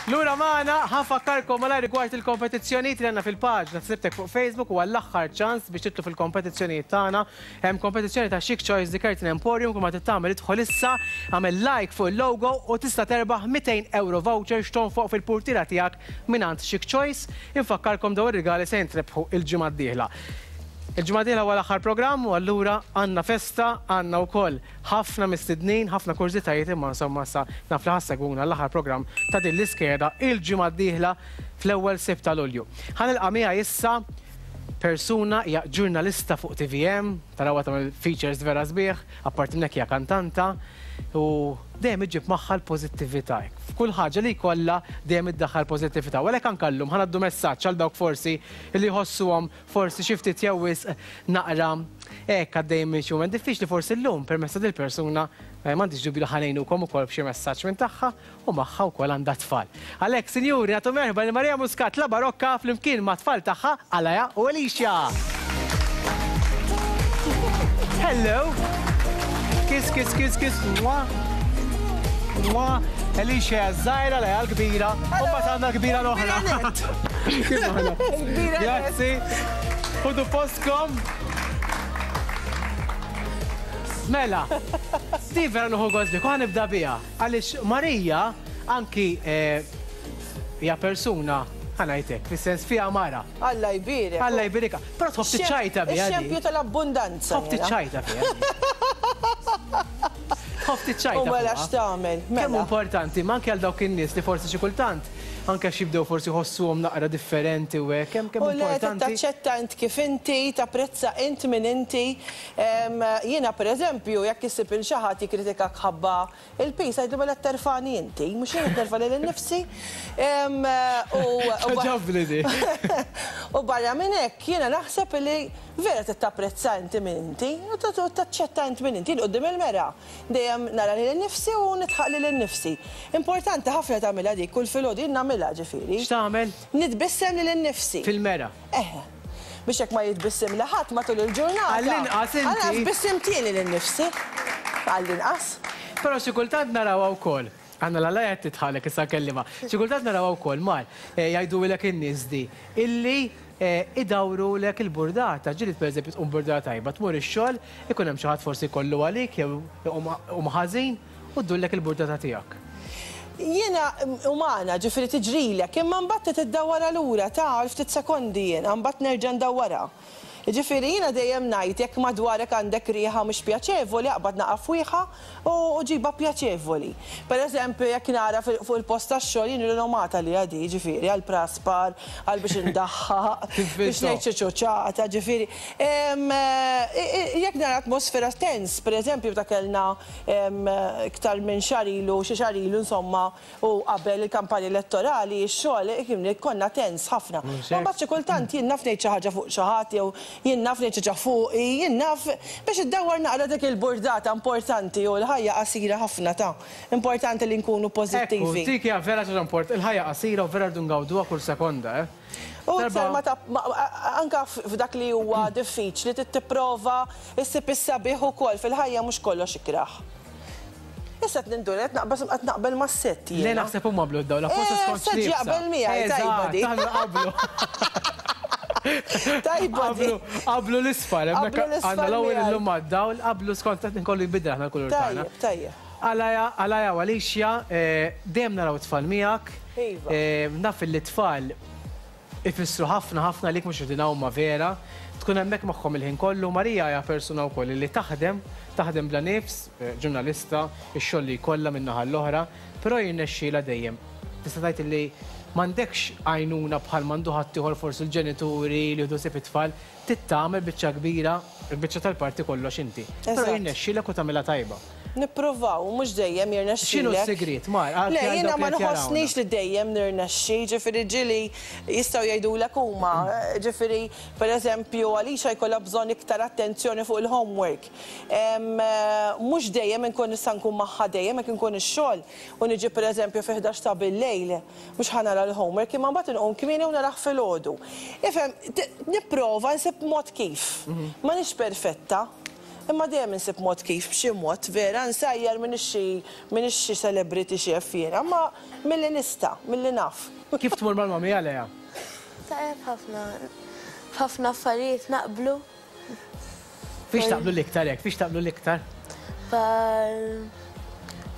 Lura magħna, ħa nfakkarkom malajr rigward il-kompetizzjonijiet li għandna fil-paġna Sibtek fuq Facebook u għall-aħħar ċans biex titlu fil-kompetizzjonijiet tagħna. Hemm kompetizzjoni ta' Chic Choice The Curtain Emporium kull ma trid tagħmel idħol issa, agħmel like fuq il-logo u tista' terbaħ 200 ewro voucher x'tonfoq fil-purtiera tiegħek mingħand Chic Choice. Infakkarkom dawn ir-rigali se jintrebħu il-ġimgħa d-dieħla. Il-ġimgħa d-dieħla huwa l-aħħar programm u allura għandna festa, għandna wkoll ħafna mistednin, ħafna kurżitajiet imma insomma issa naf li ħa ssegwuna għall-aħħar programm ta' din l-iskeda il-ġimgħa d-dieħla fl-ewwel Sibt ta' Lulju. Ħa nilqa' miegħi issa persuna hija ġurnalista fuq tvm, tarawha tagħmel features vera sbieħ, apparti minn hekk hija kantanta u dejjem iġġib magħha l-pożittività. F'kull ħaġa li jkollha dejjem iddaħħal pożittività. U għalhekk anke llum ħa ngħaddu messaġġ għal dawk forsi li jħossuhom forsi xi ftit jew wisq naqra hekk għaddejjin minn xi mument diffiċli forsi llum permezz ta' dil-persuna m'għandix dubju li ħa ngħinukom ukoll b'xi messaġġ minn tagħha u magħha wkoll għandha t-tfal. Għalhekk, sinjuri, nagħtu merħba lil Maria Muscat La Barokka flimkien mat-tfal tagħha Alaya u Alicia. Hello! Kiss, kiss, kiss, kiss, mwah. Mwah. Alicia hija ż-żgħira, Alaya l-kbira, u mbagħad għandna l-kbira l-oħra. Kif aħna? Grazzi. Ħudu postkom. Mela, di vera nieħu gost bik u ħa nibda biha. Għaliex Marija anki hija persuna, ħa ngħid hekk, fis-sens fiha mara. Alla jbierek. Alla jbierikha. Però tħobb tiċċajta biha di. Ix-xempju tal-abbundanza. Tħobb tiċċajta fiha. Tħobb tiċċajta. U mela x'tagħmel? Kemm importanti, ma anke għal dawk in-nies li forsi xi kultant anke għax jibdew forsi jħossuhom naqra differenti u hekk, kemm kemm importanti. U le, taċċetta int kif inti, tapprezza int min inti. Jiena pereżempju, jekk issib 'il xi ħadd jikkritikak ħabba l-piż, għidlu mela qed terfagħni inti, mhux jien qed nerfa' lili nnifsi. Togħġobni di. U barra minn hekk, jiena naħseb li vera trid tapprezza inti min inti u taċċetta int min inti. Jien quddiem il-mera dejjem nara lili nnifsi u nidħaq lili nnifsi. Importanti ħafna tagħmilha dik kull filgħodu, jien nagħmilha ġifieri. X'tagħmel? Nitbissem lili nnifsi. Fil-mera? Eħe. Biex jekk ma jitbissimli ħadd matul il-ġurnata. Għall-inqas inti. Għall-inqas tbissimt jien lili nnifsi. Għall-inqas. Però xi kultant narawha wkoll. Għandna l-Alla qed tidħalek issa nkellimha. Xi kultant narawha wkoll Mar, jgħidulek in-nies di, illi idawrulek il-burdata. Ġieli pereżempju tqum burdata tajba, tmur ix-xogħol, ikun hemm xi ħadd forsi jkollu għalik jew iqum ħażin, U ddurlek il-burdata tiegħek. Jiena umana, ġifieri tiġrilek, imma mbagħad trid iddawwarha lura, ta' għal ftit sekondi jiena, mbagħad nerġa' ndawwarha. Jiġifieri jiena dejjem ngħid jekk madwarek għandek riħa mhux pjaċevoli aqbad naqa' fwieħa u ġibha pjaċevoli. Per eżempju jekk nara fuq il-post tax-xogħol jien rinomata għaliha di, jiġifieri għall-praspar, għal biex indaħħaq, biex ngħid xi ċuċata, ġifieri. Jekk nara atmosfera tens, per eżempju meta kellna Iktar minn xahar ilu, xi xahar ilu insomma, u qabel il-kampanja elettorali, ix-xogħol, konna tens ħafna. Ma mbagħad xi kultant jien naf ngħid xi ħaġa fuq xi ħadd jew jien naf ngħid xi ħaġa fuqi, jien naf biex iddawwar naqra dik il-burdata importanti u l-ħajja qasira ħafna ta'. Importanti li nkunu pożittivi. Ekku, dik hija vera xi ħaġa importanti. Il-ħajja qasira u vera rridu ngawduha kull sekonda, eh. U iktar ma ta' anke f'dak li huwa diffiċli trid tipprova ssib is-sabiħ ukoll fil-ħajja mhux kollox ikrah. Issa qed ninduna qed naqbeż qed naqbel mas-sett jiena. Le naħseb huma qablu d-dawl apposta skont x'liebsa. Sett jaqbel miegħi tajba di. Eżatt, aħna naqblu. Tajba di. Qablu l-isfar, hemmhekk għandna l-ewwel illum mad-dawl, qablu skont qed inkollu jinbidel aħna l-kulur tagħna. Tajjeb, tajjeb. Alaya, Alaya u Alicia, dejjem naraw it-tfal miegħek. Iva. Naf illi t-tfal ifissru ħafna ħafna għalik mhux qegħdin hawn ma vera. Tkun hemmhekk magħhom il-ħin kollu. Maria hija persuna wkoll illi taħdem, taħdem bla nifs, ġurnalista, ix-xogħol li jkollha min-naħa l-oħra, però jirnexxielha dejjem. Tista' tgħid illi m'għandekx għajnuna bħal m'għandu ħaddieħor forsi l-ġenituri li jieħdu ħsieb it-tfal. Trid tagħmel biċċa kbira, il-biċċa tal-parti kollox inti. Però jirnexxielek u tagħmilha tajba. Nippruvaw, mhux dejjem jirnexxilek. X'inhu s-sigriet, Mar? Le, jiena ma nħossnix li dejjem nirnexxi, ġifieri ġieli jistgħu jgħidulek huma, ġifieri pereżempju Alicia jkollha bżonn iktar attenzjoni fuq il-homework. Mhux dejjem inkun nista' nkun magħha dejjem jekk inkun ix-xogħol u niġi pereżempju fi 11 ta' bil-lejl, Mhux ħa nara l-homework imma mbagħad inqum kmieni u narah filgħodu. Ifhem, nipprova nsib mod kif. M'għanix perfetta. Imma dejjem insib mod kif, b'xi mod, vera, nsajjar m'iniex xi m'iniex xi celebrity chef jiena, imma milli nista', milli naf. Kif tmur mal-mummy Alea? Tajjeb ħafna. F'ħafna affarijiet naqblu. Fiex taqblu l-iktar hekk? Fiex taqblu l-iktar? Bħal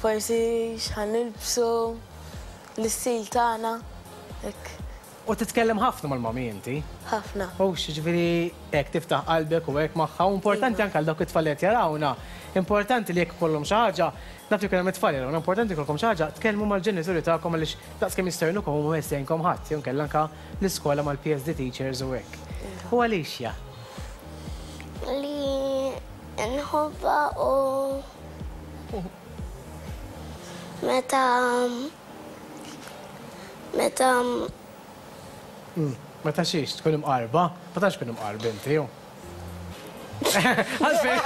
forsi x'ħa nilbsu, l-istil tagħna, hekk. U titkellem ħafna mal-mummy inti? Ħafna. Hux, jiġifieri hekk tiftaħ qalbek u hekk magħha. U importanti anke għal dawk it-tfal li qed jarawna, importanti li jekk ikollhom xi ħaġa, naf li jkun hemm it-tfal jarawna, importanti jkollkom xi ħaġa, tkellmu mal-ġenituri tagħkom għaliex daqskemm jistgħu jgħinukom huma ma jista' jgħinkom ħadd, jew inkella anke l-iskola mal-PSD teachers u hekk. U Alicia? Li nħobbha u meta meta Meta xiex tkun imqarba? Ma tantx tkun imqarb inti, hu. Għalfejn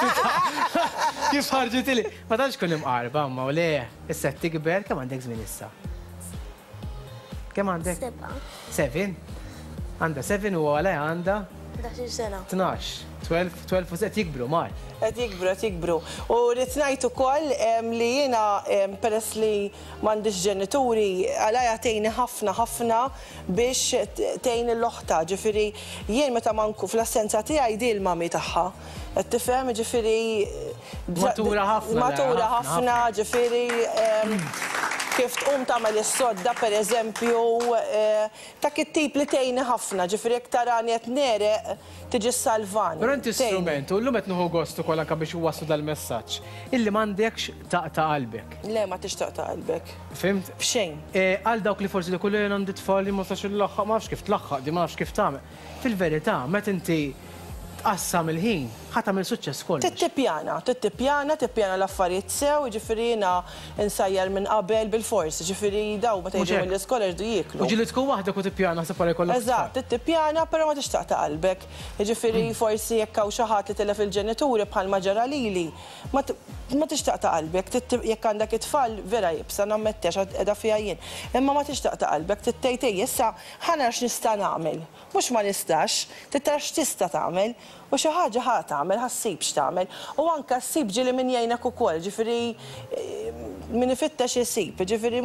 kif ħarġitili? Ma tantx tkun imqarba, imma u le, issa qed tikber, kemm għandek żmien issa? Kemm għandek? Sebgħa. Seven? Għandha seven u għalha għandha? 11 sena. 12. 12, 12 u qed jikbru, Mar. Qed jikbru, qed jikbru. U rrid ngħid ukoll li jiena peress li m'għandix ġenituri, għalija tgħinni ħafna ħafna biex tgħin lil oħtha. Ġifieri jien meta ma nkun fl-assenza tiegħi di l-mummy tagħha. Qed tifhem? Ġifieri Matura ħafna. Matura ħafna, ġifieri kif tqum tagħmel is-sodda pereżempju, dak it-tip li tgħinni ħafna, ġifieri jekk tarani qed negħreq tiġi ssalvani. Però inti strument, u llum qed nieħu gost ukoll anke biex inwasslu dal-messaġġ, illi m'għandekx taqta' qalbek. Le, ma tix taqta' qalbek. Fhimt? F'xejn. Għal dawk li forsi jgħidu le jien għandi tfal jien ma nistax inlaħħaq, ma nafx kif tlaħħaq di, ma nafx kif tagħmel. Fil-verità, meta inti tqassam il-ħin, ħa tagħmel suċċess f'kollox. Trid tippjana, trid tippjana, tippjana l-affarijiet sew, jiġifieri jiena nsajjar minn qabel bilfors, jiġifieri dawn meta jiġu mill-iskola jridu jieklu. U ġieli tkun waħdek u tippjana ħseb wara jkollok tfal. Eżatt, trid tippjana però ma tridx taqta' qalbek. Jiġifieri forsi jekk hawn xi ħadd li tilef il-ġenituri bħalma ġara lili, ma tridx taqta' qalbek, trid jekk għandek it-tfal vera iebsa nammetti għax qiegħda fiha jien. Imma ma tridx taqta' qalbek, trid tgħid ejja issa ħa nara x'nista' nagħmel. Mhux ma nistax, trid tara x'tista' tagħmel. U xi ħaġa ħa tagħmel, ħa ssib x'tagħmel. U anke ssib ġieli min jgħinek ukoll, ġifieri min ifittex isib. Ġifieri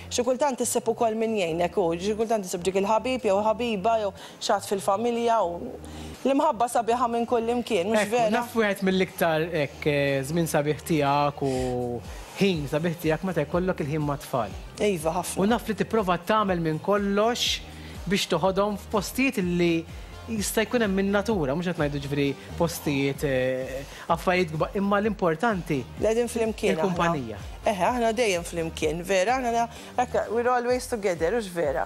xi kultant issib ukoll min jgħinek u xi kultant issib dik il-ħabib jew ħabiba jew xi ħadd fil-familja u l-imħabba sabiħa minn kullimkien, mhux vera? Ekku, naf wieħed mill-iktar hekk żmien sabiħ tiegħek u ħin sabiħ tiegħek meta jkollok il-ħin mat-tfal. Iva, ħafna. U naf li tipprova tagħmel minn kollox biex toħodhom f'postijiet li jista' jkun hemm in-natura, mhux qed ngħidu ġifieri postijiet affarijiet kbar, imma l-importanti. Li qegħdin flimkien. Il-kumpanija. Eħe, aħna dejjem flimkien, vera, aħna hekk we're always together, hux vera?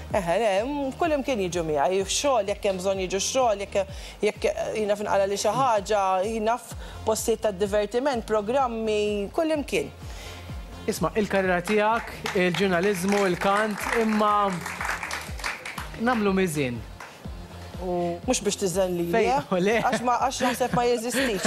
Eħe, le, kullimkien jiġu miegħi, xogħol jekk hemm bżonn jiġu x-xogħol, jekk jekk jiena f'inqalali xi ħaġa, jiena f'postijiet ta' divertiment, programmi, kullimkien. Isma', il-karriera tiegħek, il-ġurnaliżmu, il-kant, imma nagħmlu miżien. U Mhux biex tiżen lili, eh? Le. Għax ma għax naħseb ma jeżistix.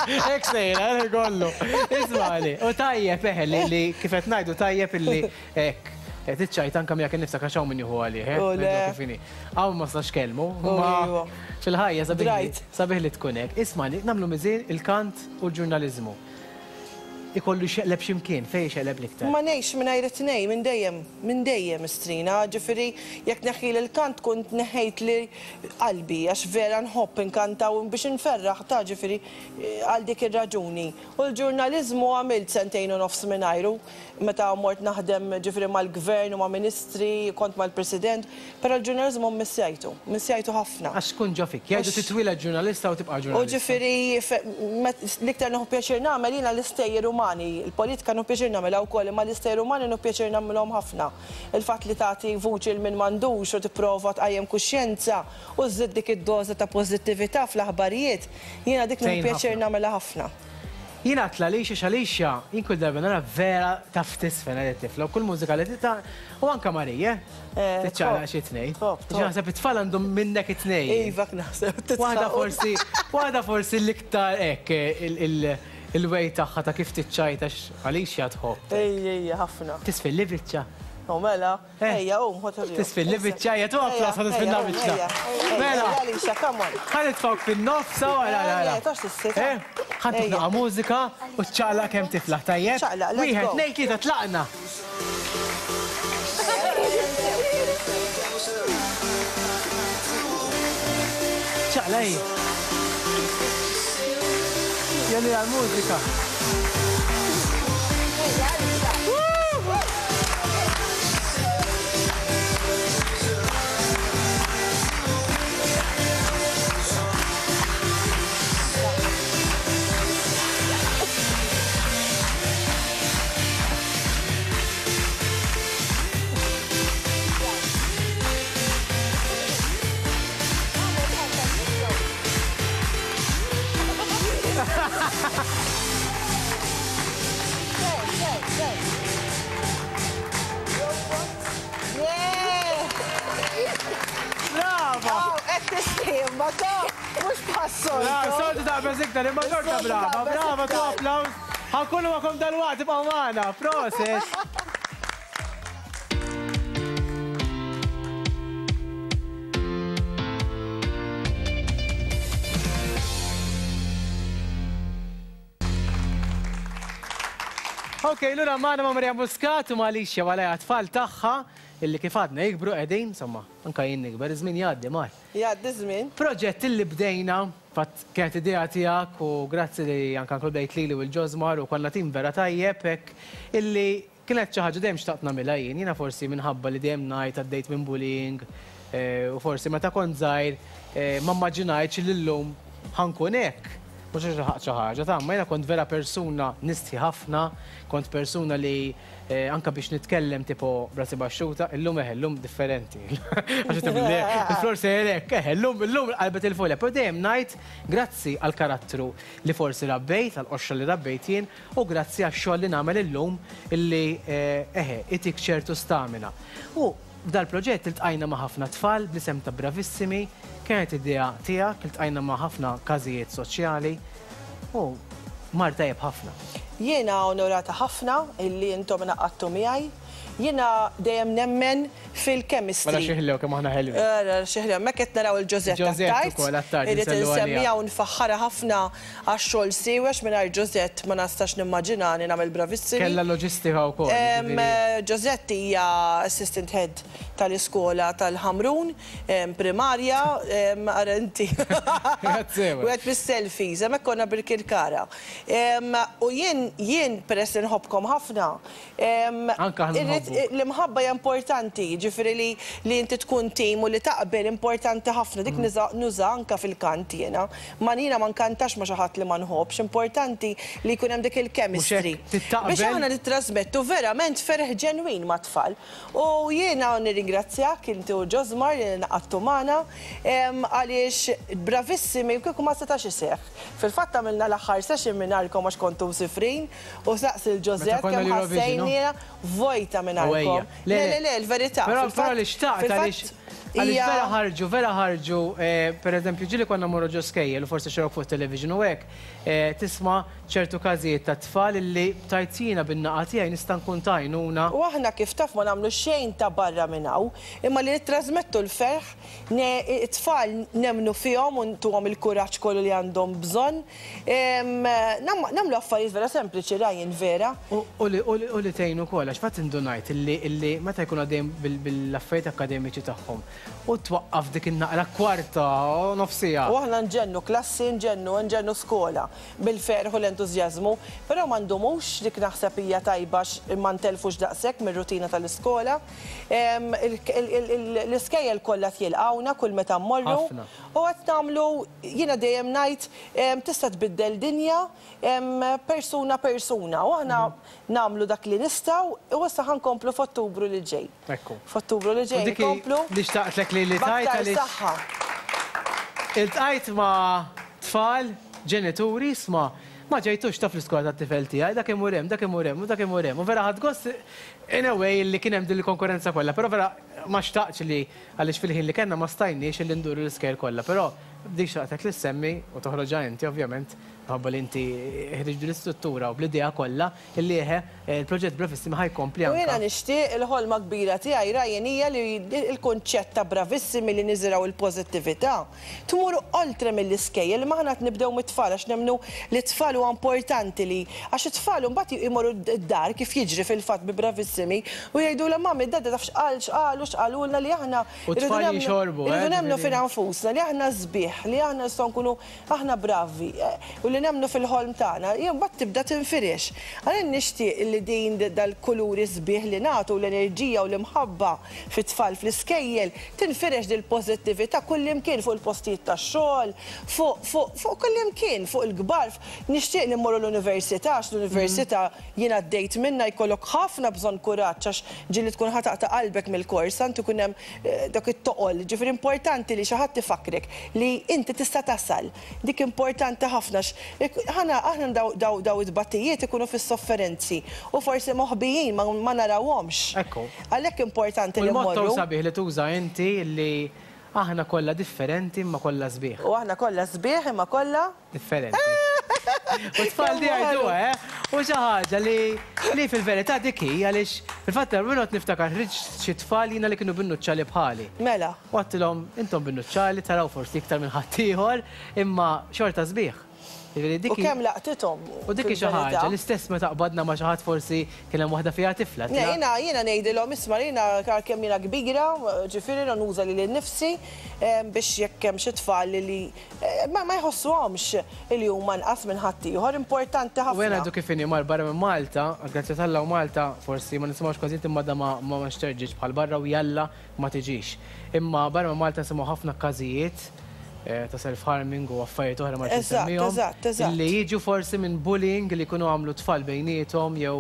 Hekk sejra, eh, kollu. Ismagħni, u tajjeb eħe li li kif qed ngħidu tajjeb illi hekk. Tiċċajt anke miegħek innifsek għax hawn min jieħu għalih, eh? Le. Kif inhi. Hawn ma stax kelmu, imma fil-ħajja sabiħ sabiħ li tkun hekk. Ismagħni, nagħmlu miżien il-kant u l-ġurnaliżmu. Ikollu jxeqleb xi mkien, fejn ixeqleb l-iktar? Ma ngħixx mingħajr it-tnejn, minn dejjem, minn dejjem istrina, ġifieri jekk tneħħili l-kant tkun tneħħejtli qalbi għax vera nħobb inkanta u biex inferraħ ta' ġifieri għal dik ir-raġuni. U l-ġurnaliżmu għamilt sentejn u nofs mingħajru meta mort naħdem ġifieri mal-gvern u ma' ministri, kont mal-President, Però l-ġurnaliżmu mmissjajtu, mmissjajtu ħafna. Għax tkun ġo fik. Jgħidu titwieled ġurnalista u tibqa' ġurnalista. U ġifieri l-iktar nieħu pjaċir nagħmel jiena l-istejjer umani. Il-politika nieħu pjaċir nagħmilha wkoll imma l-istejjer umani nieħu pjaċir nagħmilhom ħafna. Il-fatt li tagħti vuċi 'l min m'għandux u tipprova tqajjem kuxjenza u żżid dik id-doża ta' pożittività fl-aħbarijiet, jiena dik nieħu pjaċir nagħmilha ħafna. Jien għedt l-Alicia x'Alicia, jien kull darba nara vera taf tiżfen għal it-tifla u kull mużika li tita' u anke Marie, eh. Tiċċaqlaq xi tnejn. Naħseb it-tfal għandhom minnek it-tnejn. Iva naħseb. Waħda forsi, waħda forsi l-iktar hekk il-way tagħha ta' kif tiċċajta Alicia tħobb. Ejja, ejja, ħafna. Tisfilli biċċa. U mela, ejja, qum, ħa turihom. Tisfilli biċċa, ejja, tu applaws ħa tisfilna biċċa. Mela. Ejja, Alicia, come on. Ħa nitfgħuk fin-nofs, hawn, ara, ara, ara. Tox tissit. Ħa ntuk naqa' mużika u ċċaqlaq kemm tiflaħ, tajjeb? Ċaqlaq, let's go. Wieħed, tnejn, tlieta, tlaqna! Ċaqlaq, ejja. Jelli għall-mużika. Brava! Qed tistħi, ma ta' mhux bħas-soltu. Soltu taqbeż iktar, imma xorta brava, brava, tu applaws. Ħa nkunu magħkom dalwaqt, ibqgħu magħna. Proset! Ok, lura magħna ma' Maria Muscat u ma' Alicia Walea tfal tagħha illi kif għadna jikbru qegħdin, insomma, anka jien nikber, iż-żmien jgħaddi mar. Jgħaddi ż-żmien. Proġett illi bdejna, fatt kienet idea tiegħek u grazzi li anka inkludejt lili u l-Ġosmar u konna tim vera tajjeb hekk illi Kienet xi ħaġa dejjem xtaqt nagħmilha jien. Jiena forsi minħabba li dejjem ngħid għaddejt minn bullying u forsi meta kont żgħir ma mmaġinajtx li llum ħa nkun hekk. Mhux għax ilħaqt xi ħaġa, ta' imma jiena kont vera persuna nistħi ħafna, kont persuna li anke biex nitkellem tipo b'rasi baxxuta, illum eħe, illum differenti. Għax qed le, il-flor sejjer hekk, eħe, illum illum qalbet il-folja. Però dejjem ngħid grazzi għall-karattru li forsi rabbejt, għall-qoxra li rabbejt jien, U grazzi għax-xogħol li nagħmel illum illi eħe, itik ċertu stamina. U f'dal-proġett iltqajna ma' ħafna tfal bl-isem ta' Bravissimi, kienet idea tiegħek, iltqajna ma' ħafna każijiet soċjali u mar tajjeb ħafna. Jiena onorata ħafna illi intom ingħaqadtu miegħi. Jiena dejjem nemmen fil-chemistry. Ara xi ħlew kemm aħna ħelwin. Ara xi ħlew. Hemmhekk qed naraw il-Josette Josette Attard. ukoll Attard Irrid insellu għaliha. insemmiha u nfaħħarha ħafna għax-xogħol siewi għax mingħajr Josette ma nistax nimmaġinani nagħmel Bravissimi. Kellha l-loġistika wkoll, jiġifieri. Josette hija assistant head tal-iskola tal-Ħamrun primarja, ara inti. Grazzi. Wieħed mis-selfies, hemmhekk konna Birkirkara. U jien jien peress li nħobbkom ħafna, Anke aħna nħobbuk. L-imħabba hija importanti, jiġifieri li li inti tkun tim u li taqbel importanti ħafna, dik nuża anke fil-kant jiena. Ma jiena ma nkantax ma' xi ħadd li ma nħobbx, importanti li jkun hemm dik il-chemistry. Biex aħna nittrasmettu verament ferħ ġenwin mat-tfal. U jiena nirringrazzjak inti u Josmar li ngħaqadtu magħna għaliex bravissimi u kieku ma setax iseħħ. Fil-fatt għamilna l-aħħar session mingħajrkom għax kontu msifrin u saqsi lil Josette kemm ħassejniha vojta mingħajrkom. Le, le, le, il-verità. Però però li xtaqt għaliex għaliex vera ħarġu, vera ħarġu, pereżempju ġieli konna mmorru ġo skejjel u forsi xerawk fuq it-television u hekk, tisma' ċertu każijiet ta' tfal illi tgħid jiena bin-naqa tiegħi nista' nkun ta' għajnuna. U aħna kif taf ma nagħmlu xejn ta' barra minn hawn, imma li nittrażmettu l-ferħ It-tfal nemmnu fihom u ntuhom il-kuraġġ kollu li għandhom bżonn. Nagħmlu affarijiet vera sempliċi, Ryan, vera? U li tgħin ukoll, għax fatt indunajt illi meta jkunu għaddejjin bil-affarijiet akkademiċi tagħhom u twaqqaf dik in-naqra kwarta u nofs siegħa. U aħna nġennu klassi, nġennu, nġennu skola bil-ferħ u l-entużjażmu, però ma ndumux, dik naħseb hija tajba għax ma ntellfux daqshekk mir-rutina tal-iskola. L-iskejjel kollha qed jilqgħuna kull meta mmorru. U qed nagħmlu, jiena dejjem ngħid, tista' tbiddel dinja persuna persuna. U aħna nagħmlu dak li nistgħu u issa ħa nkomplu f'Ottubru li ġej. F'Ottubru li ġej nkomplu. Li xtaqtlek li li tgħid għaliex. B'aktar saħħa. Iltqajt ma' tfal, ġenituri, isma' ma ġejtux taf l-iskola tat-tifel tiegħi, dak imur hemm, dak imur hemm u dak imur hemm. U vera ħadt gost In a way li kien hemm din il-konkurrenza kollha, però vera ma xtaqtx li għaliex fil-ħin li kellna ma stajniex li nduru l-iskejjel kollha, però Dik xtaqtek li ssemmi u toħroġha inti ovvjament, minħabba li inti ħriġt din l-istruttura u bl-idea kollha illi eħe, il-proġett Bravissimi ħa jkompli U jiena anke. nixtieq, il-ħolma kbira tiegħi Ryan hija li l-kunċett ta' Bravissimi li niżirgħu l-pożittività tmur oltre mill-iskejjel imma aħna qed nibdew mit-tfal għax nemmnu li t-tfal huwa importanti li għax it-tfal imbagħad imorru d-dar kif jiġri fil-fatt bi Bravissimi u jgħidulhom mummy d-daddy taf x'qal x'qalu x'qalulna li aħna U t-tfal jixorbu, eh? Irridu nemmnu fina nfusna, li aħna sbieħ, li aħna nistgħu nkunu aħna bravi u li nemmnu fil-ħolm tagħna, mbagħad tibda tinfirex. Għalhekk nixtieq li din dal-kuluri sbieħ li nagħtu u l-enerġija u l-imħabba fit-tfal fl-iskejjel tinfirex dil-pożittività kullimkien fuq il-postijiet tax-xogħol, fuq fuq fuq kullimkien, fuq il-kbar. Nixtieq li mmorru l-università għax l-università jien għaddejt minnha jkollok ħafna bżonn kuraġġ għax Ġieli tkun ħa taqta' qalbek mill-kors, tant ikun hemm dak it-toqol. Ġifieri importanti li xi ħadd ifakkrek li inti tista' tasal. Dik importanti ħafna għax aħna aħna daw daw it-tbatijiet ikunu fis-sofferenzi u forsi moħbijin ma narawhomx. Ekku. Għalhekk importanti U li l-motto mmorru. sabiħ li tuża inti li aħna kollha differenti imma kollha sbieħ. U aħna kollha sbieħ imma kollha. Differenti. U t-tfal di jgħiduha, eh? U xi ħaġa li li fil-verità dik hi għaliex fil-fatt darba niftakar ħriġt xi tfal jiena li kienu bin-nuċċali bħali. Mela. U għedtilhom intom bin-nuċċali taraw forsi iktar minn ħaddieħor imma xorta sbieħ. Jiġifieri dik U kemm laqtithom. U dik hi xi ħaġa, l-istess meta qbadna ma' xi ħadd forsi kien hemm waħda fiha tifla. Le, jiena jiena ngħidilhom isma' jiena għalkemm jiena kbira, ġifieri nuża lili nnifsi biex jekk hemm xi tfal li Ma ma jħossuhomx li huma anqas minn ħaddieħor, importanti U jien ħafna. għadu kif inhi mar barra minn Malta, grazzi t'Alla u Malta forsi ma nisimgħux kważi imma da ma ma xterġitx bħal barra u jalla ma tiġix. Imma barra minn Malta nisimgħu ħafna każijiet ta' self-harming u affarijiet oħra ma rridx Eżatt, insemmihom eżatt, eżatt. illi jiġu forsi minn bullying li jkunu għamlu t-tfal bejniethom jew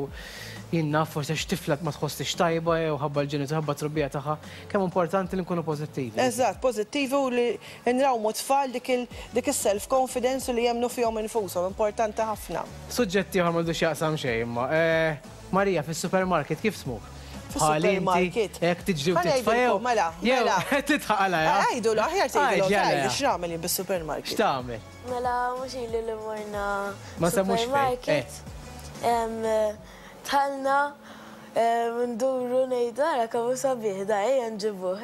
jien naf forsi għax tifla ma tħossix tajba jew ħabba l-ġenitur ħabba t-trobbija tagħha. Kemm importanti li nkunu pożittivi. Eżatt, pożittivi u li Inrawmu t-tfal dik il dik is-self confidence u li jemmnu fihom infushom, importanti ħafna. Suġġett ieħor m'għandu x'jaqsam xejn imma. Marija, fis-supermarket kif tmur? Bħali inti, Fis-supermarket. hekk tiġri u Ħa titfa' jew ngħidilkom, mela, jew mela. tidħaq għalajha? Għidulu, aħjar tgħidilhom, Għid, tgħidli jalla. x'nagħmel jien bis-supermarket. X'tagħmel? Mela mhux ili li morna Ma nsemmux fejn, supermarket. Dħalna nduru ngħidu ara kemm hu sabiħ da ejja nġibuh.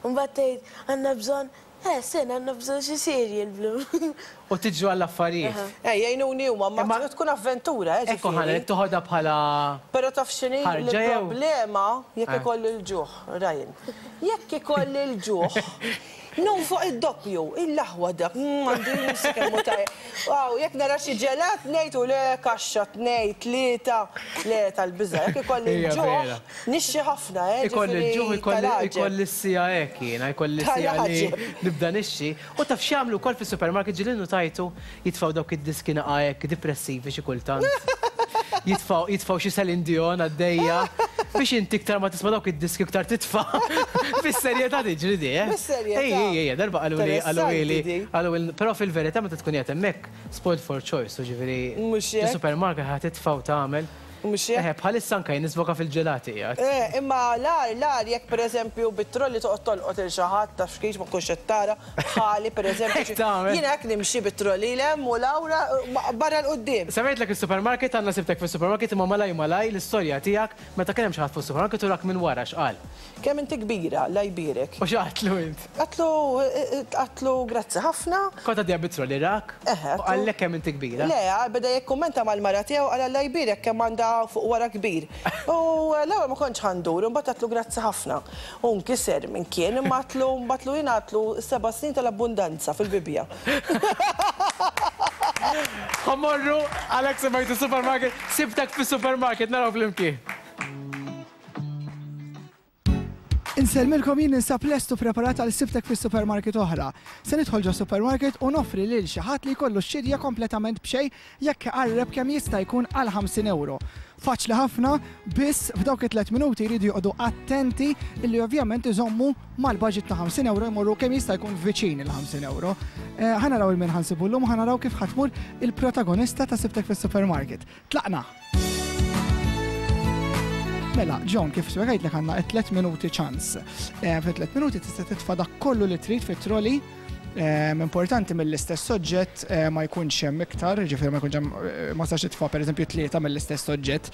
Mbagħad tgħid għandna bżonn, eh sen għandna bżonn xi cereal blu. U tiġru għall-affarijiet. Eh jgħinuni huma ma tkun avventura eh ġifieri. Ekku ħa ngħid toħodha bħala Però taf x'inhi l-problema jekk ikolli l-ġuħ, Ryan. Jekk ikolli l-ġuħ, nonfoq id-doppju, il-aħwa dak, għandu jinsa kemm hu tajjeb. Aw, jekk nara xi ġelat ngħid u le kaxxa tnejn, tlieta, le tal-biża'. Jekk ikolli l-ġuħ, nixxi ħafna, eh, Ikolli l-ġuħ, ġifieri tal-għaġeb. ikolli s-siegħa hekk jiena, ikolli s-siegħa li nibda nixxi. U taf x'jagħmlu wkoll fis-supermarket ġieli nnutajtu jitfgħu dawk id-diski naqa' hekk dipressivi xi kultant. Jitfgħu jitfgħu xi Celine Dion għaddejja biex inti iktar ma tisma' dawk id-diski iktar titfa'. Fis-serjetà tiġri di, eh? Fis-serjetà. Ej, ej, ej, darba qaluli qaluli Interessanti di. qaluli però fil-verità meta tkun qiegħed hemmhekk spoiled for choice, jiġifieri Mhux hekk? ġo supermarket ħa titfa' u tagħmel. Mhux hekk? Eħe, bħalissa anke jien nisboka fil-ġelati qiegħed. Eh, imma l-agħar, l-agħar jekk pereżempju bit-trolley toqgħod tolqot 'il xi ħadd taf kif ma tkunx qed tara, bħali pereżempju. Hekk tagħmel. Jiena hekk nimxi bit-trolley 'l hemm u 'l hawn barra 'l quddiem. Semmejtlek is-supermarket, għandna sibtek fis-supermarket imma malaj malaj l-istorja tiegħek meta kien hemm xi ħadd fuq is-supermarket u rak minn wara x'qal? Kemm inti kbira, Alla jbierek. U x'għadtlu int? Għadtlu, għadtlu grazzi ħafna. Kont għaddejja bit-trolley rak? Eħe. U qallek kemm inti kbira? Le, beda jikkummenta mal-mara tiegħu qal Alla jbierek kemm għandha fuq wara kbir. U l-ewwel ma kontx ħa ndur, imbagħad għadtlu grazzi ħafna. U nkiser minn kien, imma għadtlu, mbagħad jien għadtlu s-seba' snin tal-abbundanza fil-Bibbja. Ħa mmorru, għalhekk semmejtu supermarket, sibtek fis-supermarket, naraw flimkien. Insellmilkom jien ninsab lest u preparat għal sibtek fis-supermarket oħra. Se nidħol ġo supermarket u noffri lil xi ħadd li jkollu x-xirja kompletament b'xejn jekk iqarreb kemm jista' jkun għal 50 ewro. Faċli ħafna, biss f'dawk it-tliet minuti jridu joqogħdu attenti illi ovvjament iżommu mal-budget ta' 50 ewro jmorru kemm jista' jkun viċin il-50 ewro. Eh, ħa naraw il min ħa nsibu llum u ħa naraw kif ħa tmur il-protagonista ta' sibtek fis-supermarket. Tlaqna! Mela, John, kif spjegajtlek għandna tlet minuti ċans. Eh, fi tlet minuti tista' titfa' dak kollu li trid fit-trolley. Importanti mill-istess oġġett ma jkunx hemm iktar, jiġifieri ma jkunx hemm ma tistax titfa' pereżempju tlieta mill-istess oġġett.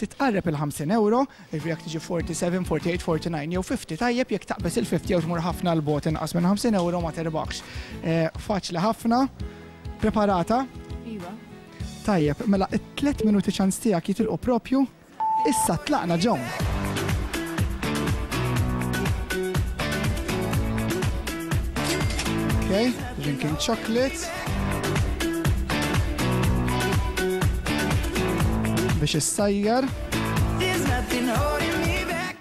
Titqarreb il-50 ewro, jiġifieri jekk tiġi 47, 48, 49 jew 50 tajjeb, jekk taqbeż il-50 jew tmur ħafna 'l bogħod inqas minn 50 ewro ma tirbaħx. Faċli ħafna. Preparata? Iva. Tajjeb, mela it-tliet minuti ċans tiegħek jitilqu propju Issa tlaqna Joan. Okay, drinking chocolate. Biex issajjar.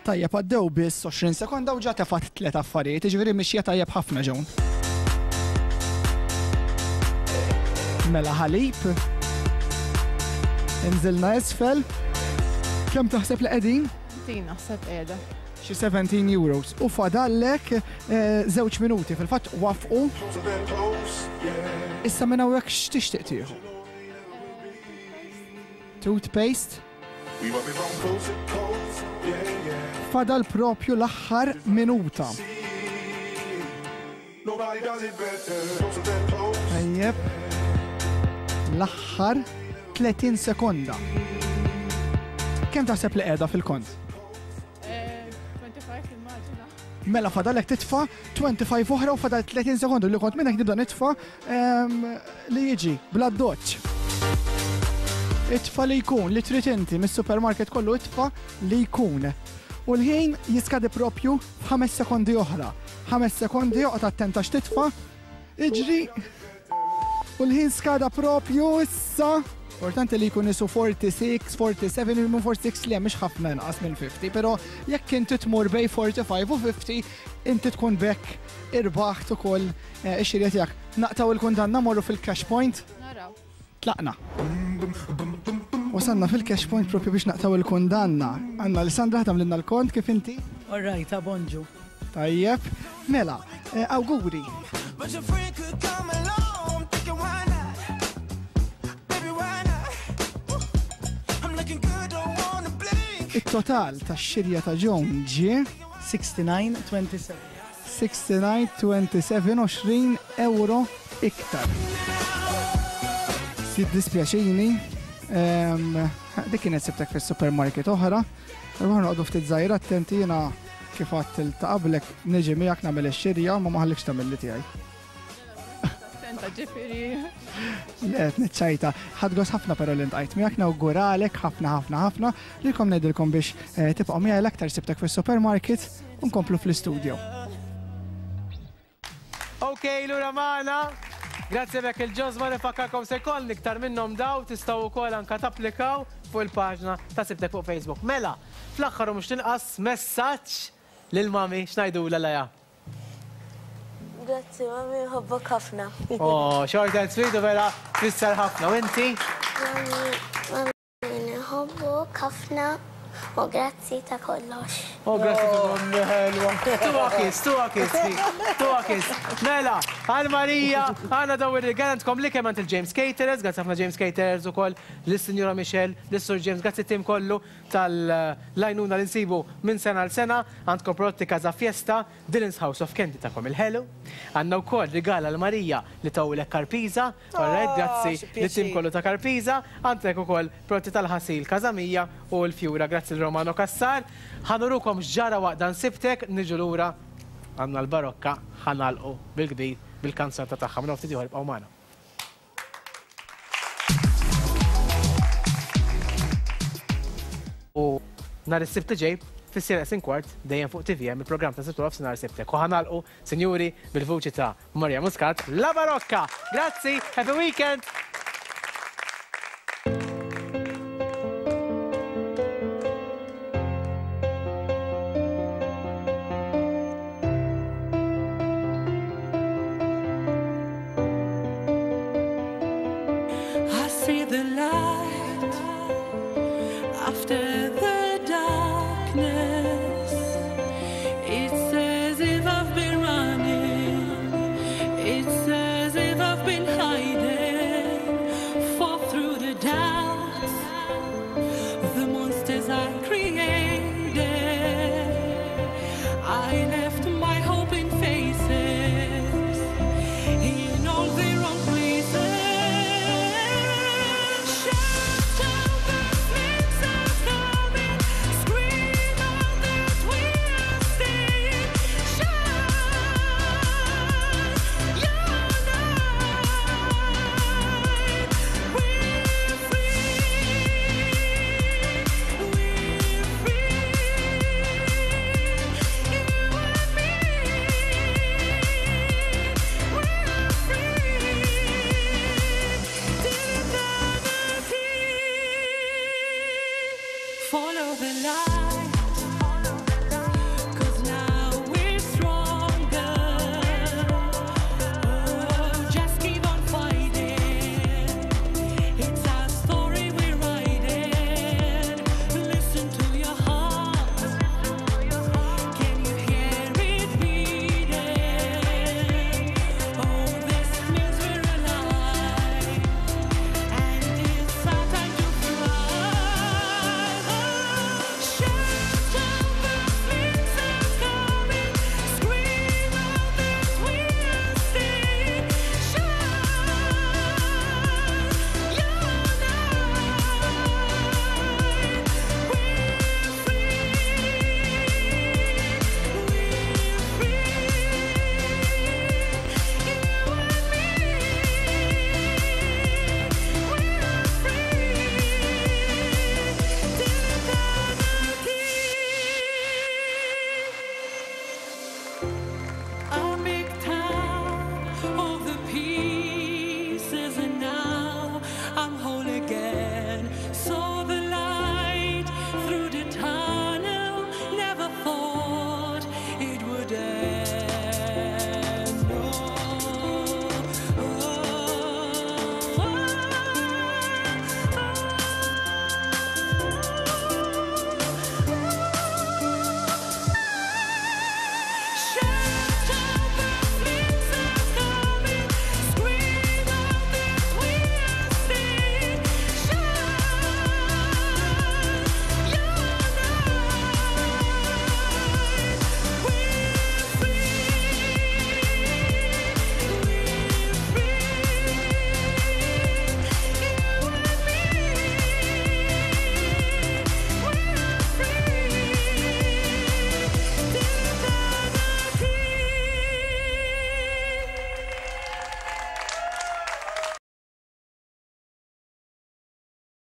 Tajjeb għaddew biss 20 sekonda u ġa tefat tliet affarijiet, jiġifieri mixja tajjeb ħafna Joan. Mela ħalib. Inżilna isfel. Kemm taħseb li qegħdin? Din naħseb qiegħda. Xi 17 euros. U fadallek eh, żewġ minuti fil-fatt wafqu. Issa minn hawnhekk x'tixtieq tieħu? Toothpaste. Fadal propju l-aħħar minuta. Tajjeb. L-aħħar 30 sekonda. Kemm taħseb li qiegħda fil-kont? 25 immaġina. Mela fadalek titfa' 25 oħra u fadal 30 sekonda li kont minnek nibda nitfa' li jiġi bla doċ. Itfa' li jkun li trid inti mis-supermarket kollu itfa' li jkun. U l-ħin jiskadi propju f'ħames sekondi oħra. Ħames sekondi oqgħod attent għax titfa', iġri u l-ħin skada propju issa. Importanti li jkun isu 46, 47, minn 46 le mhux ħafna inqas minn 50, però jekk inti tmur bej 45 u 50, inti tkun bekk irbaħt ukoll eh, ix-xirja tiegħek. Naqtaw il-kundanna morru fil-cash point. Naraw. Tlaqna. Wasalna fil-cash point propju biex naqtaw il-kundanna. Għanna Alessandra ħatamlilna l-kont kif inti? All right, bonġu. Tajjeb, mela, eh, awguri. It-total tax-xirja ta' Joan ġie 69.27. 69.27 20 euro iktar. Jiddispjaċini, ehm, dik kienet sibtek fis-supermarket oħra, Irruħu noqogħdu ftit żgħira attenti jiena kif għadt il ta' qablek niġi miegħek nagħmel ix-xirja ma ma ħallikx tagħmel li tiegħi. Attenta ġifieri. Le, qed niċċajta. Ħadd gost ħafna però li ntqajt miegħek nawguralek ħafna ħafna ħafna lilkom ngħidilkom biex eh, tibqgħu miegħi l-aktar sibtek fis-supermarket u nkomplu fl-istudio. Ok, lura magħna. Grazzi bek il-ġozma nifakkarkom se jkollni iktar minnhom daw tistgħu wkoll anka tapplikaw fuq il-paġna ta' Sibtek fuq Facebook. Mela, fl-aħħar u mhux tinqas messaġġ lil mami x'ngħidulha Leah? Grazzi mami, nħobbok ħafna. Oh, short and sweet u vera tfisser ħafna. U inti? Mami, mami. Nħobbok ħafna u grazzi ta' kollox. Oh, grazzi ta' ommi ħelwa. Tuha kiss, tuha kiss, tuha kiss. Mela, għal Marija, għandna daw ir-rigal għandkom li kemm għand il-James Caterers, grazzi ħafna James Caterers ukoll, lis-Sinjura Michelle, lis-Sur James, grazzi tim kollu tal-lajnuna li nsibu minn sena għal sena, għandkom prodotti Casa Fiesta, Dylan's House of Candy tagħkom il-ħelu. Għandna wkoll rigal għal Marija li tawlek Karpiza. Alright, grazzi lit-tim kollu ta' Karpiza. Għandek ukoll prodotti tal-ħasil Casa Mia u l-Fjura. Grazzi lil Romano Cassar. Ħa nurukom x'ġara waqt dan Sibtek, niġu lura għandna l-Barokka ħa nagħlqu bil-kbir bil-kanzunetta tagħha. Minn hawn ftit ieħor ibqgħu magħna. U nhar is-Sibt li ġej fis-siegħa neqsin kwart dejjem fuq tvm il-programm ta' Sibt u Nofsinhar Sibtek. U ħa nagħlqu, sinjuri, bil-vuċi ta' Maria Muscat, La Barocca! Grazzi, happy weekend! I see the light after the darkness. It's as if I've been running. It's as if I've been hiding. of the light.